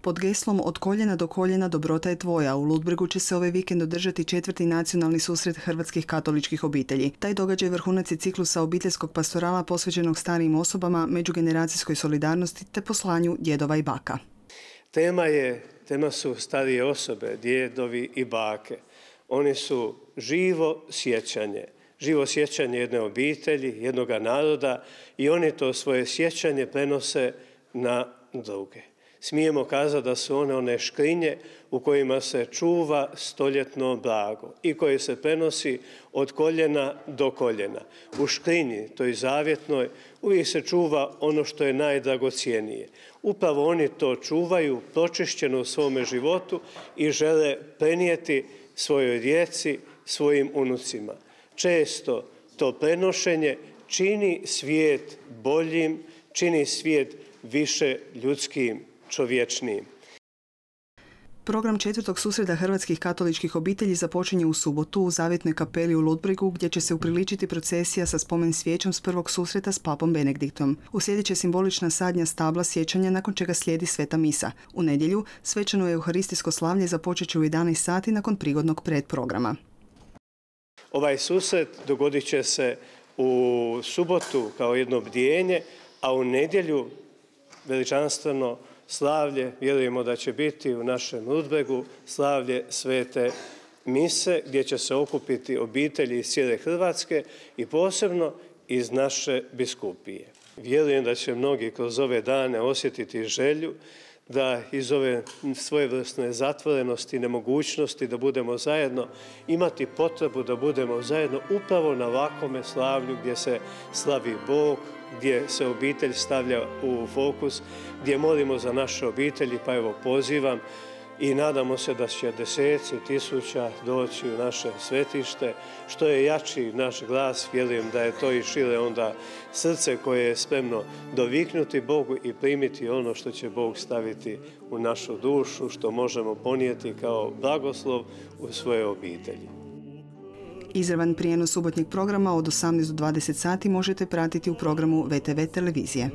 Pod geslom Od koljena do koljena dobrota je tvoja u Ludbregu će se ovaj vikend održati 4. nacionalni susret hrvatskih katoličkih obitelji. Taj događaj vrhunac je ciklusa obiteljskog pastorala posvećenog starijim osobama, međugeneracijskoj solidarnosti te poslanju djedova i baka. Tema su starije osobe, djedovi i bake. Oni su živo sjećanje jedne obitelji, jednog naroda i oni to svoje sjećanje prenose na druge. Smijemo kazati da su one škrinje u kojima se čuva stoljetno blago i koje se prenosi od koljena do koljena. U škrinji, toj zavjetnoj, uvijek se čuva ono što je najdragocjenije. Upravo oni to čuvaju pročišćeno u svome životu i žele prenijeti svojoj djeci, svojim unucima. Često to prenošenje čini svijet boljim, čini svijet više ljudskim, čovječnijim. Program 4. susreta hrvatskih katoličkih obitelji započinje u subotu u Zavjetnoj kapeli u Ludbregu, gdje će se upriličiti procesija sa spomen svijećom s prvog susreta s papom Benediktom. Uslijedit će simbolična sadnja stabla sjećanja, nakon čega slijedi sveta misa. U nedjelju svečano euharistijsko slavlje započet će u 11 sati nakon prigodnog predprograma. Ovaj susret dogodit će se u subotu kao jedno bdijenje, a u nedjelju veličanstveno slavlje, vjerujemo da će biti u našem Ludbregu, slavlje svete mise, gdje će se okupiti obitelji iz cijele Hrvatske i posebno iz naše biskupije. Vjerujem da će mnogi kroz ove dane osjetiti želju da iz ove svojevrsne zatvorenosti i nemogućnosti da budemo zajedno, imati potrebu da budemo zajedno upravo na ovakvome slavlju gdje se slavi Bog, gdje se obitelj stavlja u fokus, gdje molimo za naše obitelji, pa evo pozivam i nadamo se da će deseci tisuća doći u naše svetište. Što je jači naš glas, vjerujem da je to i šire onda srce koje je spremno doviknuti Bogu i primiti ono što će Bog staviti u našu dušu, što možemo ponijeti kao blagoslov u svoje obitelji. Izravan prijenos subotnjeg programa od 18 do 20 sati možete pratiti u programu VTV televizije.